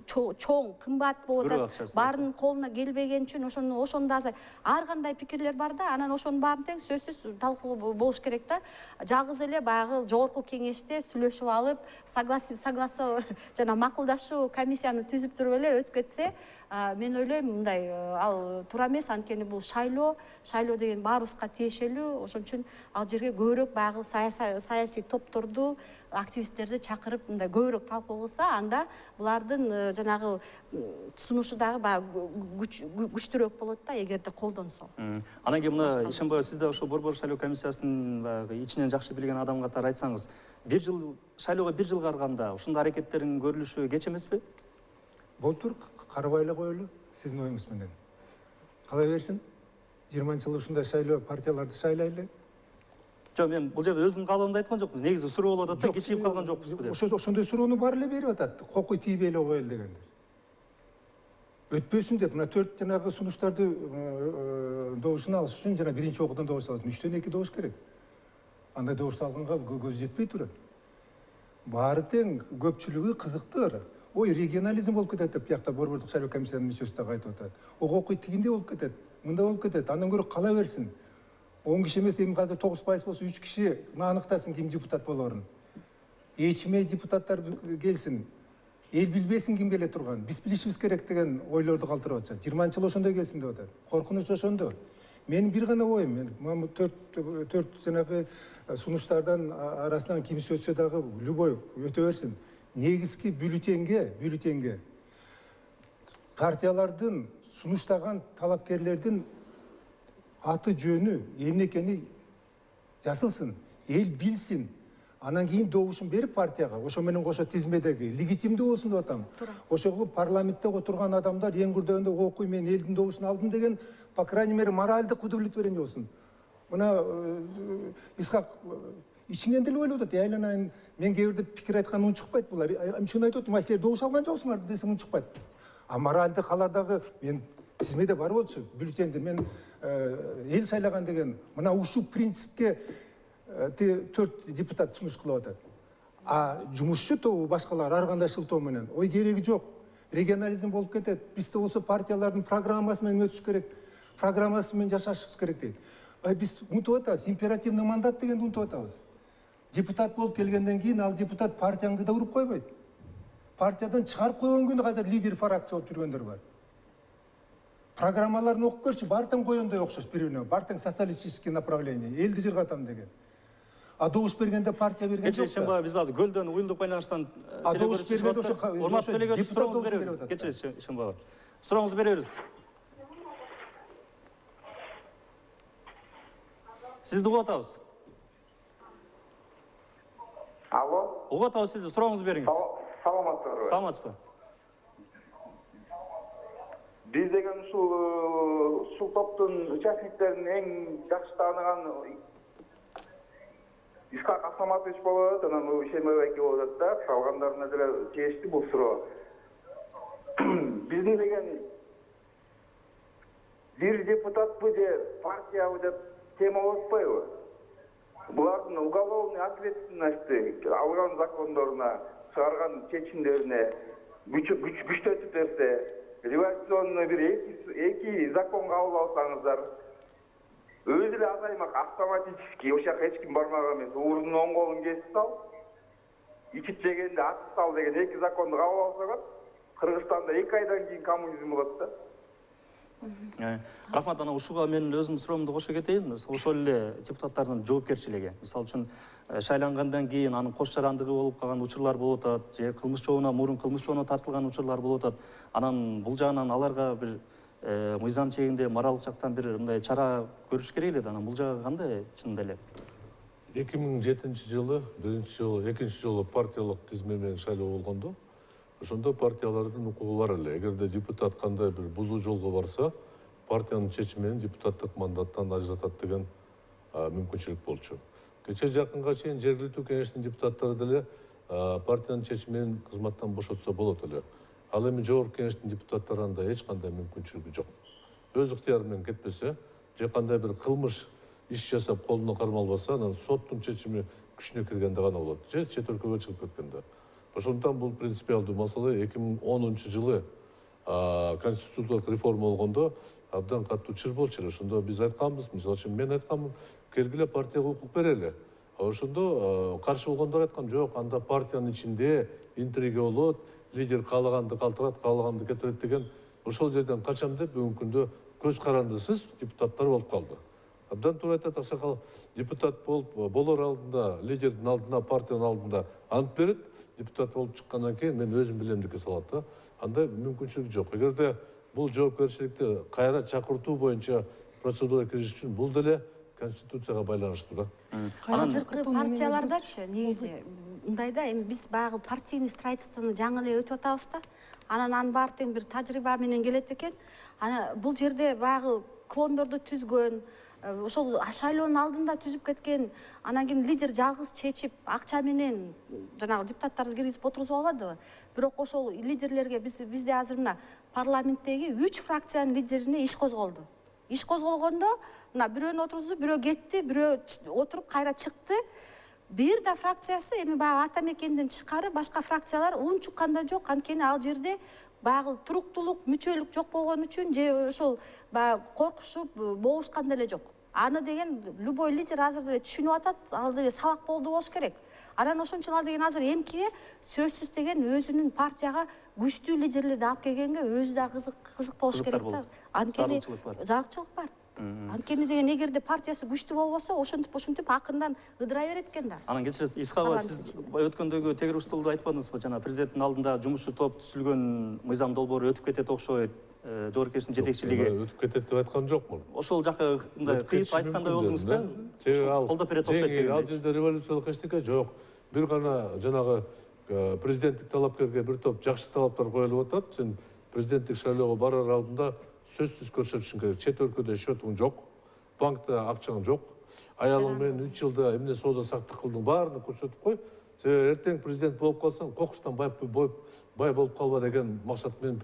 B: чоң, кымбат болуп атат. Баарынын колуна келбеген үчүн ошону ошону да ар кандай пикирлер бар да, анан ошонун баарын тең сөзсүз талкуу болуш керек да. Жалгыз эле баягы жогорку кеңеште сүйлөшүп алып, согласоо жана макулдашуу комиссияны түзүп туруп эле өтүп кетсе, мен ойлойм мындай ал туура эмес, анткени бул шайлоо, шайлоо деген баарыбызга тиешелүү. Ошон үчүн ал жерге көбүрөөк баягы саясий топторду, активисттерди чакырып мындай көбүрөөк талкуу кылса, анда булардын жанагы сунушу дагы баягы күчтүүрөөк болот да, эгерде колдонсо.
A: Анан кийин мына Ишенбаева, сиз да ошо Борбор шайлоо комиссиясынын баягы ичинен жакшы билген адам катары айтсаңыз, бир жыл шайлоого бир жыл карганда ушундай аракеттердин көрүлүшү кеч эмеспи?
C: Болтур, карабай эле коелу, сиздин оюңуз менен. Кала берсин, жыйырманчы жылы ушундай шайлоо партияларды шайлайлы.
A: Жок, мен бул жерде өзүмдүн каалоомду айткан жокмун. Негизи суроо болуп атат да, кичинип калган жокпузбу деп.
C: Ошо ошондой суроону баары эле берип атат. Кокуй тийбей эле коелу дегендер. Өтпөсүн деп, мына төрт жанагы сунуштарды добушун алыш үчүн жана биринчи окуудан добуш алат. үчтөн эки добуш керек. Андай добуш алганга көз жетпей турат. Баары тең, көпчүлүгү кызыктыр. Ой, регионализм болуп кетет деп биякта Борбордук шайлоо комиссиянын мүчөсү дагы айтып атат. Окуй тигиндей болуп кетет, мындай болуп кетет. Андан көрө кала берсин. он киши эмес, эми азыр тогуз пайыз болсо үч киши аныктасын ким депутат болорун. Эчмей депутаттар келсин. Эл билбесин ким келе турган. Биз билишибиз керек деген ойлорду калтырып атышат. жыйырманчы жыл ошондой келсин деп атат. Коркунуч ошондо. Менин бир гана оюм, мен төрт төрт жанагы сунуштардан арасынан кимиси өтсө дагы любой өтө берсин. Негизги бюллетенге, бюллетенге партиялардын сунуштаган талапкерлердин аты жөнү, эмне экени жазылсын, эл билсин. Анан кийин добушун берип партияга, ошо менен кошо тизмедеги легитимдүү болсун деп атам. Ошого парламентте отурган адамдар эң курдөгөндө окуй, мен элдин добушун алдым деген, по крайней мере, моральдык удовлетворение болсун. Мына Исхак ичинен деле ойлоп атат, айланайын, мен кээ бирде пикир айткан ун чыкпайт булар. Эмче айтып атам, силер добуш алган жоксуңар десем ун чыкпайт. А моральдык алардагы мен тизмеде бар болчу, бюллетенде мен эл сайлаган деген, мына ушул принципке төрт депутат сунуш кылып атат. А жумушчу тобу башкалар ар кандай шылтоо менен, ой кереги жок. Регионализм болуп кетет. Бизде болсо партиялардын программасы менен өтүш керек, программасы менен жашашыбыз керек дейт. Ай биз унутуп атабыз, императивный мандат дегенди унутуп атабыз. Депутат болуп келгенден кийин ал депутат партияңды да уруп койбойт. Партиядан чыгарып койгон күнү азыр лидер фракция болуп жүргөндөр бар. Программаларын окуп көрчү, бартаң коёндой окшош бири-бирине, бартаң социалистический направление, элди жыргатам деген. А добуш бергенде партия берген жок.
A: Кече Ишенбаева, биз азыр көлдөн уюлдук байланыштан
C: А добуш бергенде ошо
A: урматтуу делегат сурооңузду беребиз. Кече Ишенбаева. Сурооңузду беребиз. Сизди угуп атабыз.
H: Алло.
A: Угуп атабыз сизди, сурооңузду бериңиз.
H: Саламатсызбы?
A: Саламатсызбы?
H: Биз деген ушул ушул топтун участниктерин эң жакшы тааныган Исхак Асламатович болуп атат, анан Ишенбаева эки болуп атат да, калгандарына деле тиешти бул суроо. Биздин деген бир депутатпы же партиябы деп тема болуп атпайбы? Булардын уголовный ответственности алган закондоруна, чыгарган чечимдерине күчтөтүп берсе, революционный бир эки закон кабыл алсаңыздар, өзү эле азаймак автоматически, ошол жака эч ким бармаган эмес, уурунун оң колун кесип сал, ичип жегенде атып сал деген эки законду кабыл алсаңыз, Кыргызстанда эки айдан кийин коммунизм болот да.
A: Рахмат, ана ушуга мен өзүмдүн суроомду кошо кетейин. Ошол эле депутаттардын жоопкерчилиги. Мисалы үчүн шайлангандан кийин анын кош жарандыгы болуп калган учурлар болуп атат, же кылмыш жообуна мурун кылмыш жообуна тартылган учурлар болуп атат. Анан бул жагынан аларга бир мыйзам чегинде моралдык жактан бир мындай чара көрүш керек эле да. Анан бул жагы кандай чынында эле?
E: эки миң жетинчи жылы биринчи жолу экинчи жолу партиялык тизме менен шайлоо болгондо ошондо партиялардын укугу бар эле. Эгерде депутат кандай бир бузуу жолго барса, партиянын чечими менен депутаттык мандаттан ажыратат деген мүмкүнчүлүк болчу. Кече жакынга чейин жергиликтүү кеңештин депутаттары деле партиянын чечими менен кызматтан бошотсо болот эле. Ал эми жогорку кеңештин депутаттары анда эч кандай мүмкүнчүлүгү жок. Өз ыктыяры менен кетпесе, же кандай бир кылмыш иш жасап колуна кармалбаса, анан соттун чечими күчүнө киргенде гана болот, же чет өлкөгө чыгып кеткенде. Ошондуктан бул принципиалдуу маселе эки миң онунчу жылы конституциялык реформа болгондо абдан катуу чыр болчу эле. Ошондо биз айтканбыз, мисалы үчүн мен айтканмын, келгиле партияга укук берели. Ошондо каршы болгондор айткан, жок, анда партиянын ичинде интрига болот, лидер каалаганды калтырат, каалаганды кетирет деген. Ошол жерден качам деп бүгүнкү күндө көз карандысыз депутаттар болуп калды. Абдан туура айтат аксакал, депутат болуп болор алдында, лидердин алдына, партиянын алдында ант берет, депутат болуп чыккандан кийин мен өзүм билемдикке салат да. Андай мүмкүнчүлүк жок. Эгерде бул жоопкерчиликти кайра чакыртуу боюнча процедура кириш үчүн бул деле конституцияга байланыштуу да.
B: Азыркы партиялардачы негизи мындай да, эми биз баягы партийный строительствону жаңы эле өтүп атабыз да. Анан анын баары тең бир тажрыйба менен келет экен. Ана бул жерде баягы клондорду түзгөн, ошол шайлоонун алдында түзүп кеткен, анан кийин лидер жалгыз чечип, акча менен жанагы депутаттарды киргизип отургузуп албадыбы? Бирок ошол лидерлерге биз бизде азыр мына парламенттеги үч фракциянын лидерине иш козголду. Иш козголгондо мына бирөөнү отургузду, бирөө кетти, бирөө отуруп кайра чыкты. Бир да фракциясы эми баягы ата мекенден тышкары башка фракциялар ун чукканда жок. Анткени ал жерде баягы туруктуулук, мүчөлүк жок болгон үчүн же ошол баягы коркушуп болушкан деле жок. Аны деген любой лидер азыр деле түшүнүп атат, ал деле сабак болду болуш керек. Анан ошон үчүн ал деген азыр эмкиге сөзсүз деген өзүнүн партияга күчтүү лидерлерди алып келгенге өзү да кызык кызык болуш керек да. Анткени зарыкчылык бар. Анткени деген эгерде партиясы күчтүү болбосо, ошентип ошентип акырындан ыдырай берет экен да.
A: Анан кечиресиз, Исхакова, сиз өткөндөгү тегерук столдо айтпадыңызбы, жана президенттин алдында жумушчу топ түзүлгөн мыйзам долбоору өтүп кетет окшойт, жогорку кеңештин жетекчилиги.
E: Өтүп кетет деп айткан жокмун.
A: Ошол жака мындай кыйып айткандай болдуңуз да.
E: Колдоп берет окшойт деген. Ал жерде революциялык эчтеке жок. Бир гана жанагы президенттик талапкерге бир топ жакшы талаптар коюлуп атат. Сен президенттик шайлоого барар алдында сөзсүз көрсөтүшүң керек. Чет өлкөдө счетуң жок, банкта акчаң жок, аялың менен үч жылда эмне соода сактык кылдың, баарын көрсөтүп кой. Себеби эртең президент болуп калсаң, кокустан бай бай болуп калба деген максат менен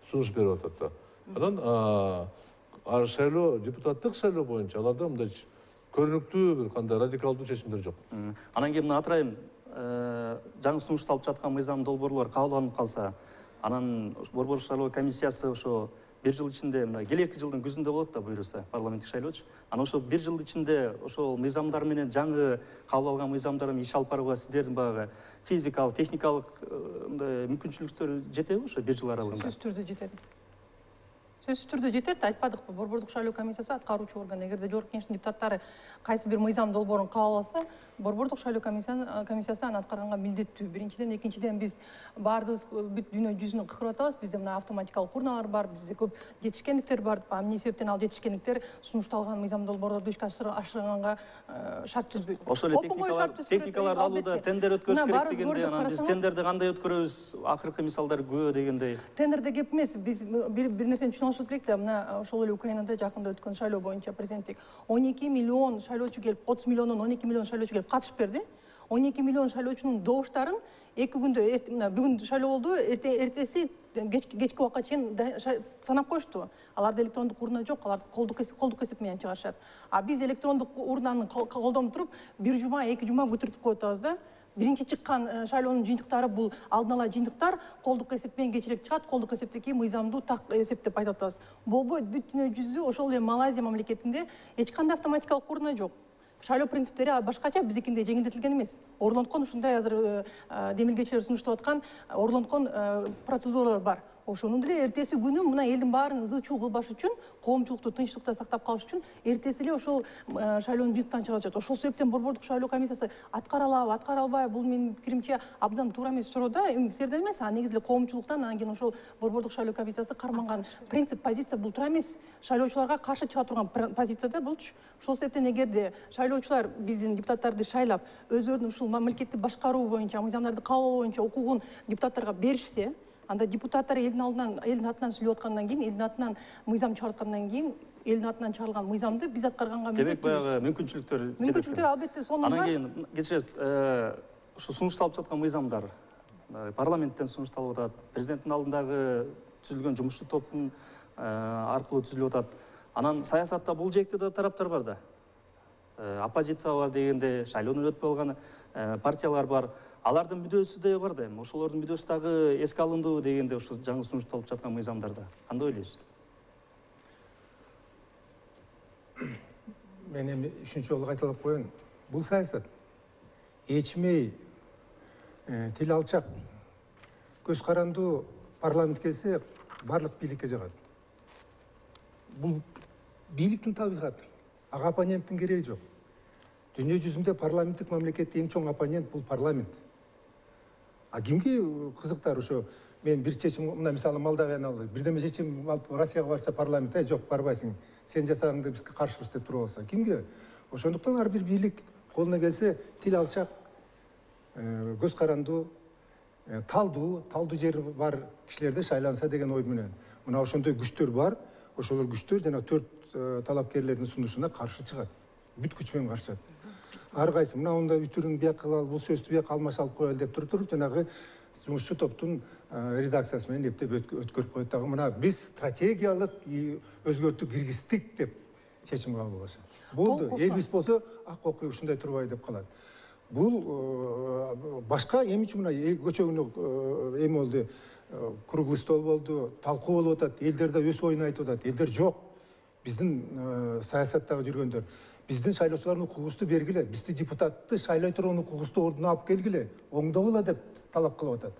E: сунуш берип атат да. Анан шайлоо, депутаттык шайлоо боюнча аларда мындай көрүнүктүү бир кандай радикалдуу чечимдер жок.
A: Анан кийин мына атырайын, жаңы сунушталып жаткан мыйзам долбоорлор кабыл алынып калса, анан борбор шайлоо комиссиясы ошо бир жыл ичинде, мына келерки жылдын күзүндө болот да буюрса, парламенттик шайлоочу. Анан ошол бир жыл ичинде ошол мыйзамдар менен жаңы кабыл алган мыйзамдар менен иш алып барууга сиздердин баягы физикалык, техникалык мындай мүмкүнчүлүктөр жетеби ошо бир жыл аралыгында?
D: Сөзсүз түрдө жетет. Сөзсүз түрдө жетет, айтпадыкпы, борбордук шайлоо комиссиясы аткаруучу орган. Эгерде жогорку кеңештин депутаттары кайсы бир мыйзам долбоорун кабыл алса, борбордук шайлоо комиссиясы аны аткарганга милдеттүү. Биринчиден, экинчиден биз баардыгыбыз бүт дүйнө жүзүнө кыкырып атабыз. Бизде мына автоматикалык урналар бар, бизде көп жетишкендиктер бар. Эмне себептен ал жетишкендиктер сунушталган мыйзам долбоорлорду ишке ашырганга шарт түзбөйт.
A: Ошол эле техникаларды алууда тендер өткөрүш керек дегенде, анан биз тендерди кандай өткөрөбүз, акыркы мисалдар көп дегендей.
D: Тендерде кеп эмес, биз бир нерсени түшүнүп алышыбыз керек да, мына ошол эле Украинада жакында өткөн шайлоо боюнча президенттик он эки миллион шайлоочу келип, отуз миллиондон он эки миллион шайлоочу келип катышып берди. он эки миллион шайлоочунун добуштарын эки күндө, мына бүгүн шайлоо болду, эртеси кечки убакка чейин санап коюшту. Аларда электрондук урна жок, аларды колдук эсеп, колдук эсеп менен чыгарышат. А биз электрондук урнаны колдонуп туруп, бир жума, эки жума көтөртүп коюп атабыз да. Биринчи чыккан шайлоонун жыйынтыктары бул алдын ала жыйынтыктар, колдук эсеп менен кечирээк чыгат, колдук эсептен кийин мыйзамдуу так эсеп деп айтып атабыз. Болбойт, бүт дүйнө жүзү, ошол эле Малайзия мамлекетинде эч кандай автоматикалык урна жок. Шайлоо принциптери башкача, биздикинде жеңилдетилген эмес. Орлонткон ушундай азыр демилгечилер сунуштап аткан орлонткон процедуралар бар. ошону деле эртеси күнү мына элдин баарын ызы чуу кылбаш үчүн, коомчулукту тынчтыкта сактап калыш үчүн эртеси эле ошол шайлоонун жыйынтыктан чыгышат. Ошол себептен борбордук шайлоо комиссиясы аткара алабы, аткара албайбы, бул менин пикиримче абдан туура эмес суроо да. Эми силерден эмес, а негизи эле коомчулуктан, анан кийин ошол борбордук шайлоо комиссиясы карманган принцип, позиция бул туура эмес. Шайлоочуларга каршы чыга турган позиция да булчу. Ошол себептен эгерде шайлоочулар биздин депутаттарды шайлап, өздөрүнүн ушул мамлекетти башкаруу боюнча, мыйзамдарды кабыл алуу боюнча укугун депутаттарга беришсе, анда депутаттар элдин алдынан, элдин атынан сүйлөп аткандан кийин, элдин атынан мыйзам чыгарткандан кийин, элдин атынан чыгарылган мыйзамды биз аткарганга
A: демек баягы мүмкүнчүлүктөр
D: мүмкүнчүлүктөр албетте сонун бар.
A: Анан кийин кечиресиз, ушу сунушталып жаткан мыйзамдар парламенттен сунушталып атат, президенттин алдындагы түзүлгөн жумушчу топтун аркылуу түзүлүп атат. Анан саясатта бул жээкте да тараптар бар да. Оппозиция бар дегенде, шайлоону өтпөй алган партиялар бар. Алардын мүдөөсү да бар да. Эми ошолордун мүдөөсү дагы эске алындыбы дегенде ушу жаңы сунушталып жаткан мыйзамдарда. Кандай ойлойсуз?
C: Мен эми үчүнчү жолу кайталап коеюн. Бул саясат эчмей, тил алчак, көз карандуу парламент келсе барлык бийликке жагат. Бул бийликтин табигаты. Ага оппоненттин кереги жок. Дүйнө жүзүндө парламенттик мамлекетте эң чоң оппонент бул парламент. А кимге кызыктар ошо? Мен бир чечим, мына мисалы Молдавияны алып, бирдеме чечим алып Россияга барса парламент, "Эй, жок, барбайсың. Сен жасагыңды бизге каршыбыз" деп туруп алса, кимге? Ошондуктан ар бир бийлик колуна келсе тил алчак, көз карандуу, талдуу, талдуу жери бар кишилерде шайланса деген ой менен. Мына ошондой күчтөр бар. Ошолор күчтөр жана төрт талапкерлердин сунушуна каршы чыгат. Бүт күч менен каршы чыгат. Ар кайсы мына онда үтүрүн бияк кылалы, бул сөздү бияк алмаш алып коелу деп туруп, жанагы жумушчу топтун редакциясы менен эптеп өткөрүп коет дагы. Мына биз стратегиялык өзгөртүү киргиздик деп чечим кабыл кылышат. Болду, элбиз болсо ак окуй ушундай турбай деп калат. Бул башка эми үчүн мына көчө күнү эми болду, круглый стол болду, талкуу болуп атат, элдер да өз оюн айтып атат. Элдер жок. Биздин саясаттагы жүргөндөр биздин шайлоочулардын укугубузду бергиле, бизди депутатты шайлай турган укугубузду ордуна алып келгиле, оңдогула деп талап кылып атат.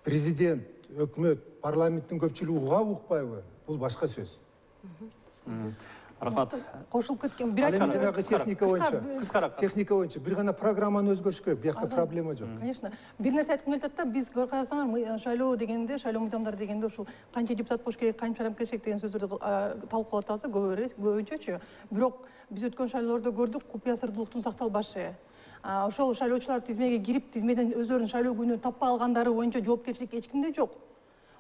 C: Президент, өкмөт, парламенттин көпчүлүгү угабы, укпайбы? Бул башка сөз.
A: Рахмат.
D: Кошулуп кеткен бир
C: Ал эми жанагы техника боюнча,
A: кыскараак.
C: техника боюнча бир гана программаны өзгөртүш керек. Биякта проблема жок.
D: Конечно. Бир нерсе айткым келет да, биз карасаңар, шайлоо дегенде, шайлоо мыйзамдары дегенде ушул канча депутат болуш керек, канча шайлап келишек деген сөздөрдү талкуулап атабыз, көбүнчөчү. Бирок биз өткөн шайлоолордо көрдүк, купуя сырдуулуктун сакталбашы. Ошол шайлоочулар тизмеге кирип, тизмеден өздөрүнүн шайлоо күнү таппай алгандары боюнча жоопкерчилик эч кимде жок.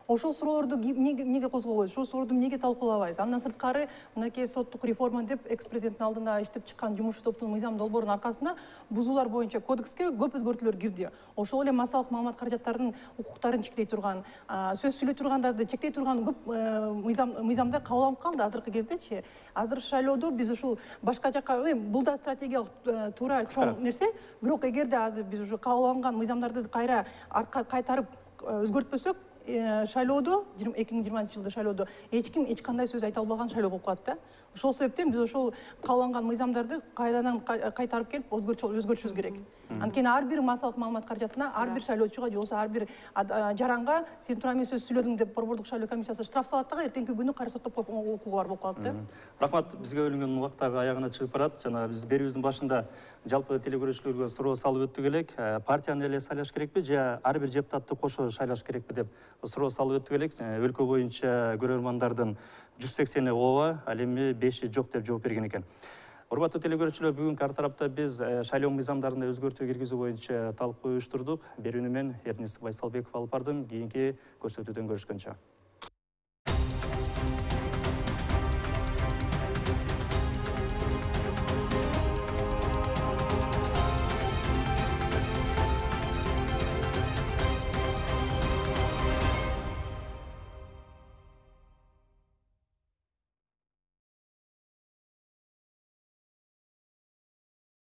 D: Ошол суроолорду эмнеге козгобойбуз? Ошол суроолорду эмнеге талкуулабайбыз? Андан сырткары, мынакей соттук реформа деп экс-президенттин алдында иштеп чыккан жумушчу топтун мыйзам долбоорунун аркасында бузуулар боюнча кодекске көп өзгөртүүлөр кирди. Ошол эле массалык маалымат каражаттарынын укуктарын чектей турган, сөз сүйлөй тургандарды чектей турган көп мыйзам мыйзамда кабыл алынып калды азыркы кездечи. Азыр шайлоодо биз ушул башка жакка, бул да стратегиялык туура чоң нерсе, бирок эгерде азыр биз уже кабыл алынган мыйзамдарды кайра кайтарып өзгөртпөсөк, шайлоодо эки миң жыйырманчы жылда шайлоодо эч ким эч кандай сөз айта албаган шайлоо болуп калат да. Ошол себептен биз ошол кабылган мыйзамдарды кайрадан кайтарып келип өзгөртүшүбүз керек. Анткени ар бир массалык маалымат каражатына, ар бир шайлоочуга же болбосо ар бир жаранга сен туура эмес сөз сүйлөдүң деп борбордук шайлоо комиссиясы штраф салат дагы эртеңки күнү кайра соттоп укугу бар болуп калат да.
A: Рахмат, бизге бөлүнгөн убакыт дагы аягына чыгып барат. Жана биз берүүбүздүн башында жалпы телекөрүүчүлөргө суроо салып өттүк элек. Партияны эле шайлаш керекпи же ар бир депутатты кошо шайлаш керекпи деп суроо салып өттүк элек. Өлкө боюнча көрөрмандардын жүз сексени ооба, ал эми беши жок деп жооп берген экен. Урматтуу телекөрүүчүлөр, бүгүнкү ар тарапта биз шайлоо мыйзамдарына өзгөртүү киргизүү боюнча талкуу уюштурдук. Берүүнү мен Эрнест Байсалбеков алып бардым. Кийинки көрсөтүүдөн көрүшкөнчө.